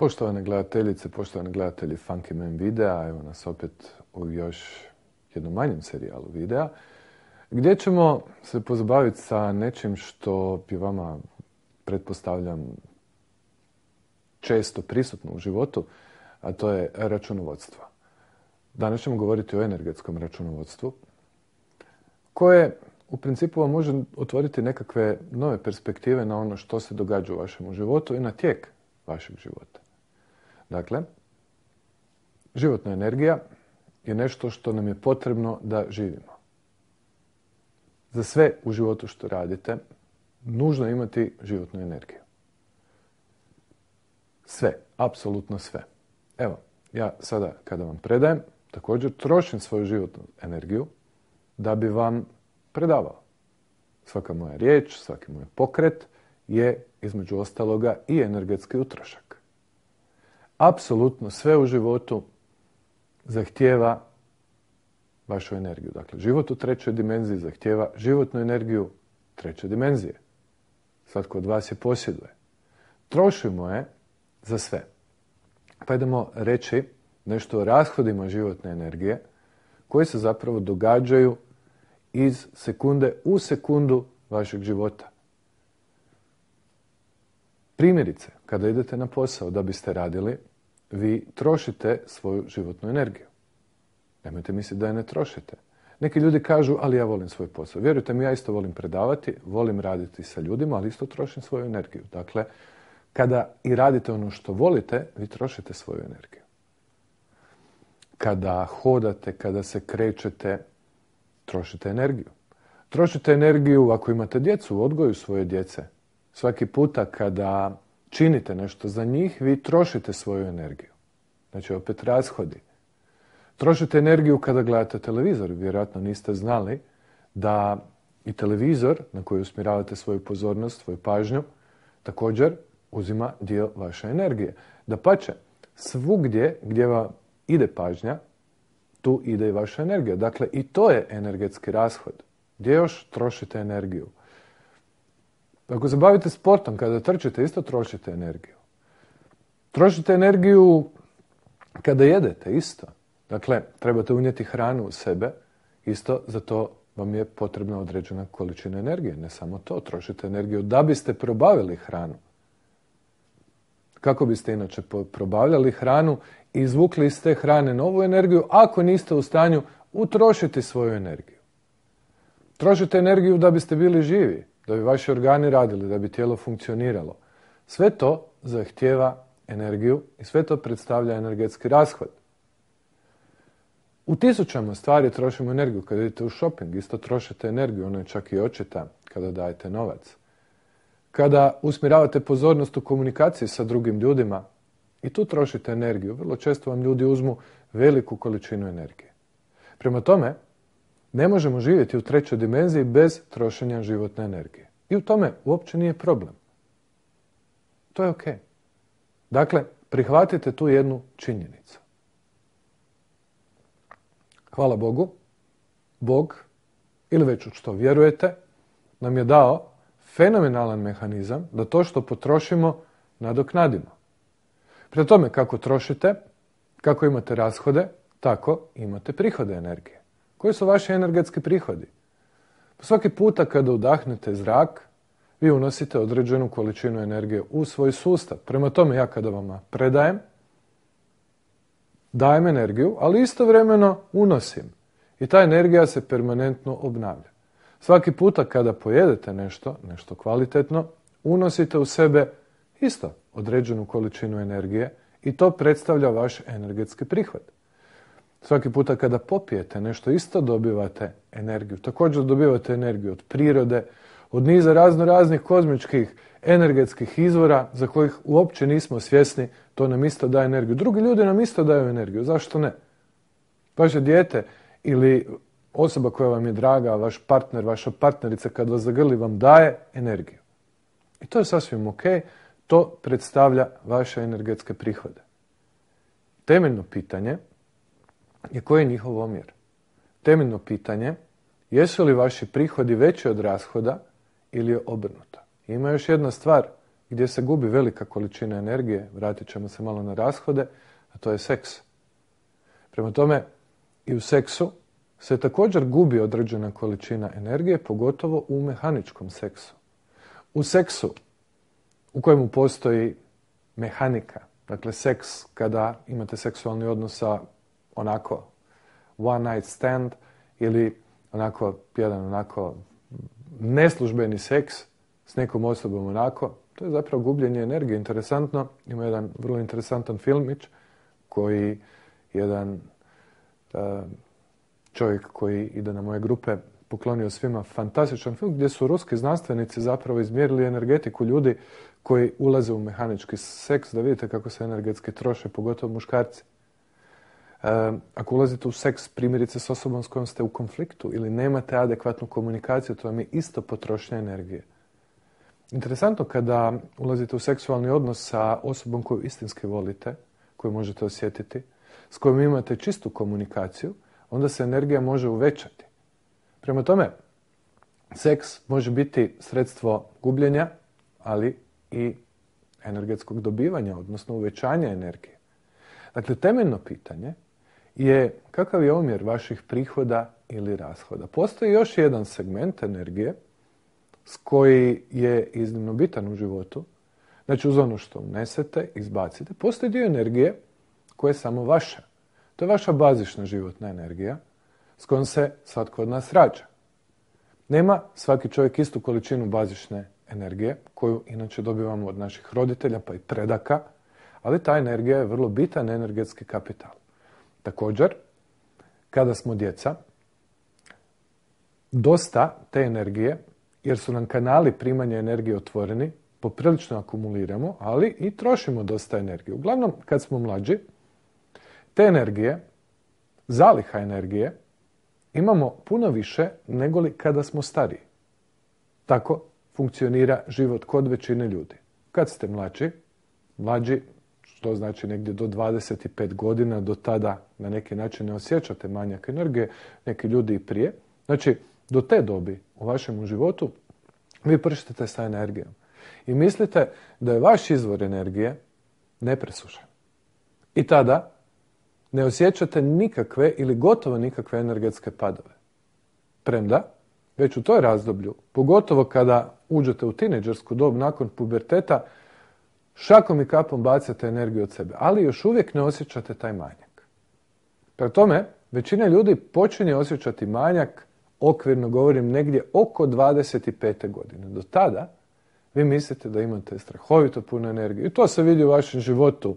Poštovane gledateljice, poštovani gledatelji Funky Man videa, evo nas opet u još jednom manjem serijalu videa, gdje ćemo se pozabaviti sa nečim što bi vama, pretpostavljam, često prisutno u životu, a to je računovodstvo. Danas ćemo govoriti o energetskom računovodstvu, koje u principu vam može otvoriti nekakve nove perspektive na ono što se događa u vašem životu i na tijek vašeg života. Dakle, životna energija je nešto što nam je potrebno da živimo. Za sve u životu što radite, nužno je imati životnu energiju. Sve, apsolutno sve. Evo, ja sada kada vam predajem, također trošim svoju životnu energiju da bi vam predavao. Svaka moja riječ, svaki moj pokret je, između ostaloga, i energetski utrošak. Apsolutno sve u životu zahtijeva vašu energiju. Dakle, život u trećoj dimenziji zahtijeva životnu energiju treće dimenzije. Svatko od vas je posjeduje. Trošimo je za sve. Pa idemo reći nešto o rashodima životne energije koji se zapravo događaju iz sekunde u sekundu vašeg života. Primjerice, kada idete na posao da biste radili, vi trošite svoju životnu energiju. Nemojte misliti da je ne trošite. Neki ljudi kažu, ali ja volim svoj posao. Vjerujte mi, ja isto volim predavati, volim raditi sa ljudima, ali isto trošim svoju energiju. Dakle, kada i radite ono što volite, vi trošite svoju energiju. Kada hodate, kada se krećete, trošite energiju. Trošite energiju ako imate djecu, u odgoju svoje djece. Svaki puta kada činite nešto za njih, vi trošite svoju energiju. Znači, opet rashodi. Trošite energiju kada gledate televizor. Vjerojatno niste znali da i televizor na koji usmjeravate svoju pozornost, svoju pažnju, također uzima dio vaše energije. Dapače, svugdje gdje vam ide pažnja, tu ide i vaša energija. Dakle, i to je energetski rashod. Gdje još trošite energiju? Ako se bavite sportom, kada trčite, isto trošite energiju. Trošite energiju kada jedete, isto. Dakle, trebate unijeti hranu u sebe, isto za to vam je potrebna određena količina energije. Ne samo to, trošite energiju da biste probavili hranu. Kako biste inače probavljali hranu i izvukli iz te hrane novu energiju, ako niste u stanju utrošiti svoju energiju? Trošite energiju da biste bili živi, da bi vaši organi radili, da bi tijelo funkcioniralo. Sve to zahtijeva energiju i sve to predstavlja energetski rashod. U tisućama stvari trošimo energiju. Kada idete u shopping, isto trošite energiju, ono je čak i očita kada dajete novac. Kada usmjeravate pozornost u komunikaciji sa drugim ljudima, i tu trošite energiju. Vrlo često vam ljudi uzmu veliku količinu energije. Prema tome, ne možemo živjeti u trećoj dimenziji bez trošenja životne energije. I u tome uopće nije problem. To je ok. Dakle, prihvatite tu jednu činjenicu. Hvala Bogu, Bog, ili već u što vjerujete, nam je dao fenomenalan mehanizam da to što potrošimo nadoknadimo. Prema tome, kako trošite, kako imate rashode, tako imate prihode energije. Koji su vaši energetski prihodi? Svaki puta kada udahnete zrak, vi unosite određenu količinu energije u svoj sustav. Prema tome, ja kada vam predajem, dajem energiju, ali istovremeno unosim. I ta energija se permanentno obnavlja. Svaki puta kada pojedete nešto kvalitetno, unosite u sebe isto određenu količinu energije i to predstavlja vaš energetski prihod. Svaki puta kada popijete nešto, isto dobivate energiju. Također dobivate energiju od prirode, od niza raznih kozmičkih energetskih izvora za kojih uopće nismo svjesni, to nam isto daje energiju. Drugi ljudi nam isto daju energiju, zašto ne? Vaše dijete ili osoba koja vam je draga, vaš partner, vaša partnerica kad vas zagrli vam daje energiju. I to je sasvim ok, to predstavlja vaše energetske prihode. Temeljno pitanje je koji je njihov omjer. Temeljno pitanje, jesu li vaši prihodi veći od rashoda ili je obrnuto. Ima još jedna stvar, gdje se gubi velika količina energije, vratit ćemo se malo na rashode, a to je seks. Prema tome, i u seksu se također gubi određena količina energije, pogotovo u mehaničkom seksu. U seksu u kojemu postoji mehanika, dakle seks kada imate seksualni odnos sa onako one night stand ili jedan neslužbeni seks s nekom osobom onako, to je zapravo gubljenje energije. Interesantno, ima jedan vrlo interesantan filmić koji jedan čovjek koji ide na moje grupe poklonio svima fantastičan film gdje su ruski znanstvenici zapravo izmjerili energetiku ljudi koji ulaze u mehanički seks, da vidite kako se energetski troše, pogotovo muškarci. Ako ulazite u seks primjerice s osobom s kojom ste u konfliktu ili nemate adekvatnu komunikaciju, to vam je isto potrošnja energije. Interesantno, kada ulazite u seksualni odnos sa osobom koju istinski volite, koju možete osjetiti, s kojom imate čistu komunikaciju, onda se energija može uvećati. Prema tome, seks može biti sredstvo gubljenja, ali i energetskog dobivanja, odnosno uvećanja energije. Dakle, temeljno pitanje je kakav je omjer vaših prihoda ili rashoda. Postoji još jedan segment energije s koji je iznimno bitan u životu. Znači, uz ono što unesete, izbacite, postoji dio energije koja je samo vaša. To je vaša bazična životna energija s kojom se svatko od nas rađa. Nema svaki čovjek istu količinu bazične energije koju inače dobivamo od naših roditelja pa i predaka, ali ta energija je vrlo bitan energetski kapital. Također, kada smo djeca, dosta te energije, jer su nam kanali primanja energije otvoreni, poprilično akumuliramo, ali i trošimo dosta energije. Uglavnom, kad smo mlađi, te energije, zaliha energije, imamo puno više nego li kada smo stariji. Tako funkcionira život kod većine ljudi. Kad ste mlađi, što znači negdje do 25 godina, do tada na neki način ne osjećate manjak energije, neki ljudi i prije. Znači, do te dobi u vašem životu vi prštite sa energijom. I mislite da je vaš izvor energije nepresušen. I tada ne osjećate nikakve ili gotovo nikakve energetske padove. Premda, već u toj razdoblju, pogotovo kada uđete u tinejdžersku dob nakon puberteta, šakom i kapom bacate energiju od sebe, ali još uvijek ne osjećate taj manjak. Prema tome, većina ljudi počinje osjećati manjak, okvirno govorim, negdje oko 25. godine. Do tada vi mislite da imate strahovito puno energije. I to se vidi u vašem životu.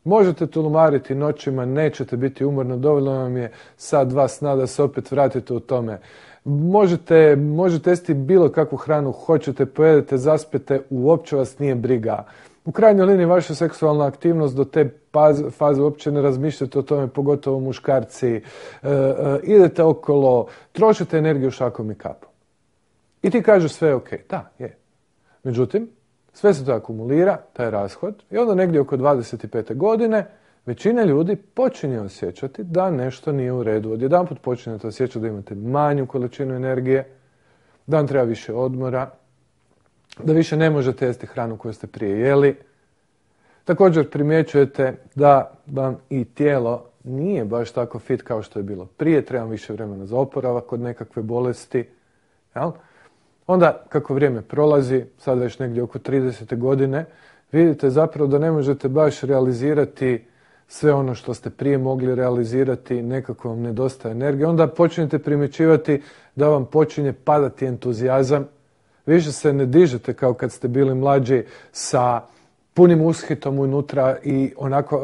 Možete tulumariti noćima, nećete biti umorni, dovoljno vam je sat, dva sna da se opet vratite u tome. Možete jesti bilo kakvu hranu, hoćete, pojedete, zaspete, uopće vas nije briga. U krajnjoj liniji vaša seksualna aktivnost do te faze uopće ne razmišljate o tome, pogotovo muškarci. Idete okolo, trošite energiju šakom i kapom. I ti kažeš sve je ok. Da, je. Međutim, sve se to akumulira, taj rashod, i onda negdje oko 25. godine većina ljudi počinje osjećati da nešto nije u redu. Odjedanput počinjete osjećati da imate manju količinu energije, da vam treba više odmora, da više ne možete jesti hranu koju ste prije jeli. Također primjećujete da vam i tijelo nije baš tako fit kao što je bilo prije, treba više vremena za oporavak od nekakve bolesti. Jel? Onda, kako vrijeme prolazi, sad već negdje oko 30. godine, vidite zapravo da ne možete baš realizirati sve ono što ste prije mogli realizirati, nekako vam nedostaje energije. Onda počinjete primjećivati da vam počinje padati entuzijazam. Više se ne dižete kao kad ste bili mlađi sa punim ushitom unutra i onako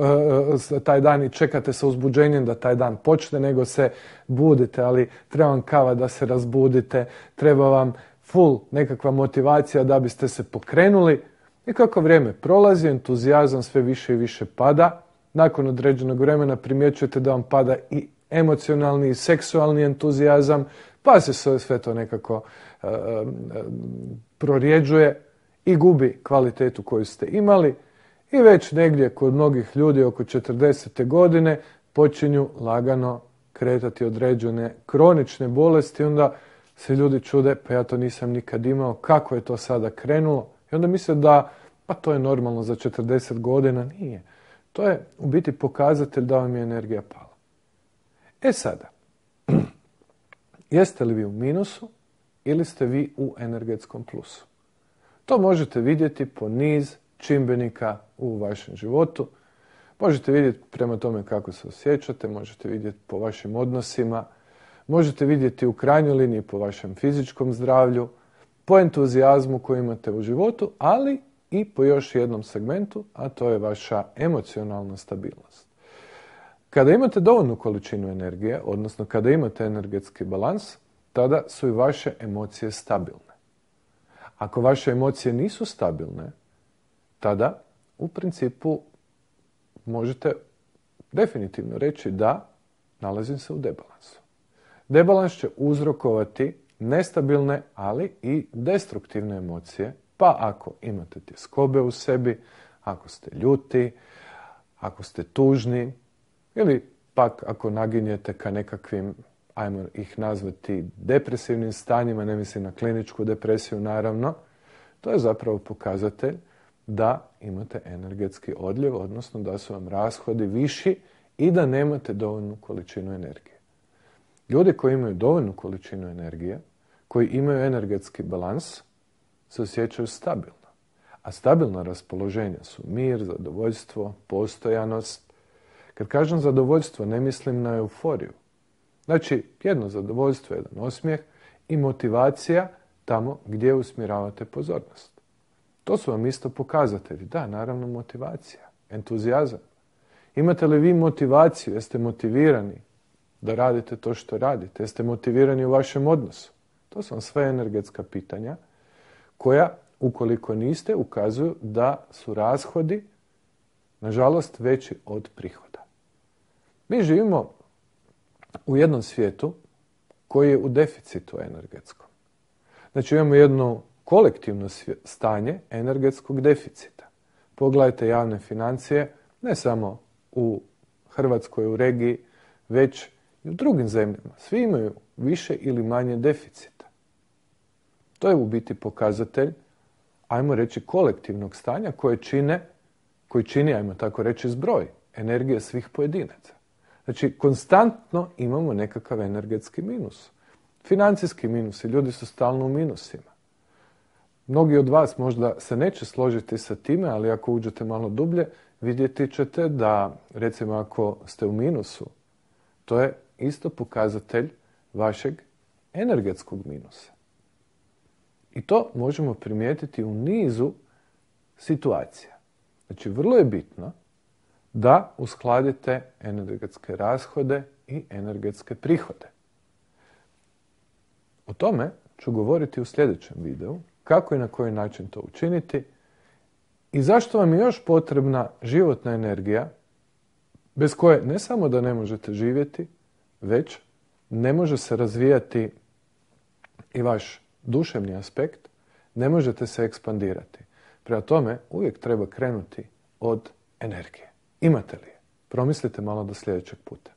taj dan i čekate sa uzbuđenjem da taj dan počne, nego se budite, ali treba vam kava da se razbudite, treba vam full nekakva motivacija da biste se pokrenuli. I kako vrijeme prolazi, entuzijazam sve više i više pada. Nakon određenog vremena primjećujete da vam pada i emocionalni i seksualni entuzijazam, pa se sve to nekako prorjeđuje i gubi kvalitetu koju ste imali. I već negdje kod mnogih ljudi oko 40. godine počinju lagano kretati određene kronične bolesti. Onda se ljudi čude, pa ja to nisam nikad imao, kako je to sada krenulo? I onda misle da Pa to je normalno za 40 godina. Nije. To je u biti pokazatelj da vam je energija pala. E sada, jeste li vi u minusu ili ste vi u energetskom plusu? To možete vidjeti po niz čimbenika u vašem životu. Možete vidjeti prema tome kako se osjećate, možete vidjeti po vašim odnosima, možete vidjeti u krajnjoj liniji po vašem fizičkom zdravlju, po entuzijazmu koji imate u životu, ali i po još jednom segmentu, a to je vaša emocionalna stabilnost. Kada imate dovoljnu količinu energije, odnosno kada imate energetski balans, tada su i vaše emocije stabilne. Ako vaše emocije nisu stabilne, tada u principu možete definitivno reći da nalazim se u debalansu. Debalans će uzrokovati nestabilne, ali i destruktivne emocije, pa ako imate tjeskobe u sebi, ako ste ljuti, ako ste tužni, ili pak ako naginjete ka nekakvim, ajmo ih nazvati, depresivnim stanjima, ne mislim na kliničku depresiju naravno, to je zapravo pokazatelj da imate energetski odljev, odnosno da su vam rashodi viši i da nemate dovoljnu količinu energije. Ljudi koji imaju dovoljnu količinu energije, koji imaju energetski balans, se osjećaju stabilno. A stabilna raspoloženja su mir, zadovoljstvo, postojanost. Kad kažem zadovoljstvo, ne mislim na euforiju. Znači, jedno zadovoljstvo, jedan osmijeh i motivacija tamo gdje usmjeravate pozornost. To su vam isto pokazatelji. Da, naravno motivacija, entuzijazam. Imate li vi motivaciju? Jeste motivirani da radite to što radite? Jeste motivirani u vašem odnosu? To su vam sve energetska pitanja koja, ukoliko niste, ukazuju da su rashodi, nažalost, veći od prihoda. Mi živimo u jednom svijetu koji je u deficitu energetskom. Znači imamo jedno kolektivno stanje energetskog deficita. Pogledajte javne financije, ne samo u Hrvatskoj, u regiji, već i u drugim zemljama. Svi imaju više ili manje deficita. To je u biti pokazatelj, ajmo reći, kolektivnog stanja koji čini, ajmo tako reći, zbroj energije svih pojedinaca. Znači, konstantno imamo nekakav energetski minus. Financijski minus i ljudi su stalno u minusima. Mnogi od vas možda se neće složiti sa time, ali ako uđete malo dublje, vidjeti ćete da, recimo, ako ste u minusu, to je isto pokazatelj vašeg energetskog minusa. I to možemo primijetiti u nizu situacija. Znači, vrlo je bitno da uskladite energetske rashode i energetske prihode. O tome ću govoriti u sljedećem videu, kako i na koji način to učiniti i zašto vam je još potrebna životna energija bez koje ne samo da ne možete živjeti, već ne može se razvijati i vaš duševni aspekt, ne možete se ekspandirati. Prema tome, uvijek treba krenuti od energije. Imate li je? Promislite malo do sljedećeg puta.